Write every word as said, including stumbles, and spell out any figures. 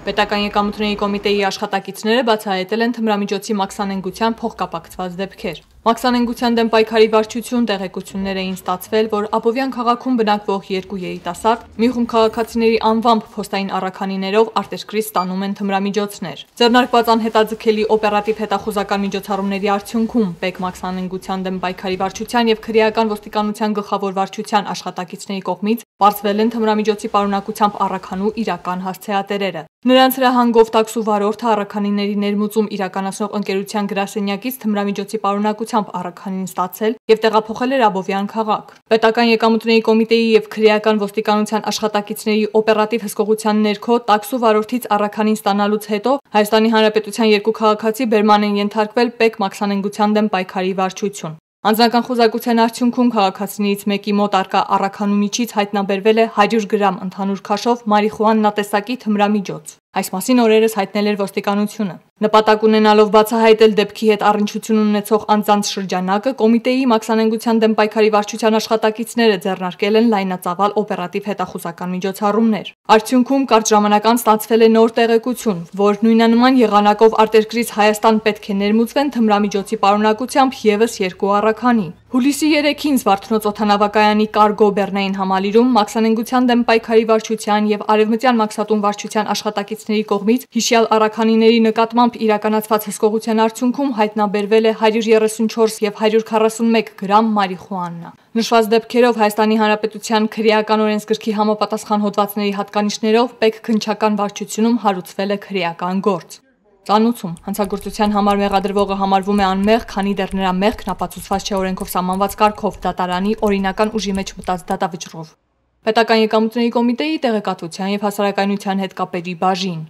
Պետական եկամուտների կոմիտեի աշխատակիցները բացահայտել են թմրամիջոցի մաքսանենգության փոխկապակցված դեպքեր։ Մաքսանենգության դեմ պայքարի վարչություն տեղեկություններ էին ստացվել, որ Աբովյան քաղաքում բնակվող երկու երիտասարդ մի խումբ քաղաքացիների անվամբ փոստային առաքանիներով արտերկրից ստանում են թմրամիջոցներ։ Ձեռնարկված անհետաձգելի օպերատիվ հետախուզական միջոցառումների արդյունքում ՊԵԿ մաքսանենգության դեմ պայքարի վարչության եւ քրեական ոստիկանության գլխավոր վարչության աշխատակիցների կողմից բարձվել են թմրամիջոցի պարունակությամբ առաքանու իրական հասցեատերերը։ Նրանց հրահանգով տաքսու վարորդը առաքանիների ներմուծում իրականացնող ընկերության գրասենյակից թմրամիջոցի պարունակությամբ առաքանին ստացել եւ տեղափոխել էր Աբովյան քաղաք։ Պետական եկամուտների կոմիտեի եւ քրեական ոստիկանության աշխատակիցների օպերատիվ հսկողության ներքո տաքսու վարորդից առաքանին ստանալուց հետո Հայաստանի Հանրապետության երկու քաղաքացի բերման են ենթարկվել ՊԵԿ մաքսանենգության դեմ պայքարի վարչություն։ Անձնական խոզակության արդյունքում քաղաքացիներից մեկի մոտ արկա առաքանու միջից հայտնաբերվել է հարյուր գրամ ընդհանուր քաշով մարիխուանա տեսակի թմրամիջոց։ Այս մասին օրերս հայտնել էր ոստիկանությունը։ Նպատակ ունենալով բացահայտել դեպքի հետ առնչություն ունեցող անձանց շրջանակը, կոմիտեի մաքսանենգության դեմ պայքարի վարչության աշխատակիցները ձեռնարկել են լայնածավալ օպերատիվ հետախուզական միջոցառումներ։ Արդյունքում կարճ ժամանակ անց ստացվել է նոր տեղեկություն, որ նույնանման եղանակով արտերկրից Հայաստան պետք է ներմուծվեն թմրամիջոցի պարունակությամբ ևս երկու առաքանի։ Հուլիսի երեքին Զվարթնոց օդանավակայանի կարգո բեռնային համալիրում մաքսանենգության դեմ պայքարի վարչության եւ Արևմտյան մաքսատուն վարչության աշխատակիցների կողմից հիշյալ առաքանիների նկատմամբ իրականացված հսկողության արդյունքում հայտնաբերվել է հարյուր երեսունչորս եւ հարյուր քառասունմեկ գրամ մարիխուանա։ Նշված դեպքերով Հայաստանի Հանրապետության քրեական օրենսգրքի համապատասխան հոդվածների հատկանիշներով ՊԵԿ քննչական վարչությունում հարուցվել է քրեական գործ։ Ծանուցում հանցագործության համար մեղադրվողը համարվում է անմեղ, քանի դեռ նրա մեղքն ապացուցված չէ օրենքով սահմանված կարգով դատարանի օրինական ուժի մեջ մտած դատավճռով։ Պետական եկամուտների կոմիտեի տեղեկատվության եւ հասարակայնության հետ կապերի բաժին։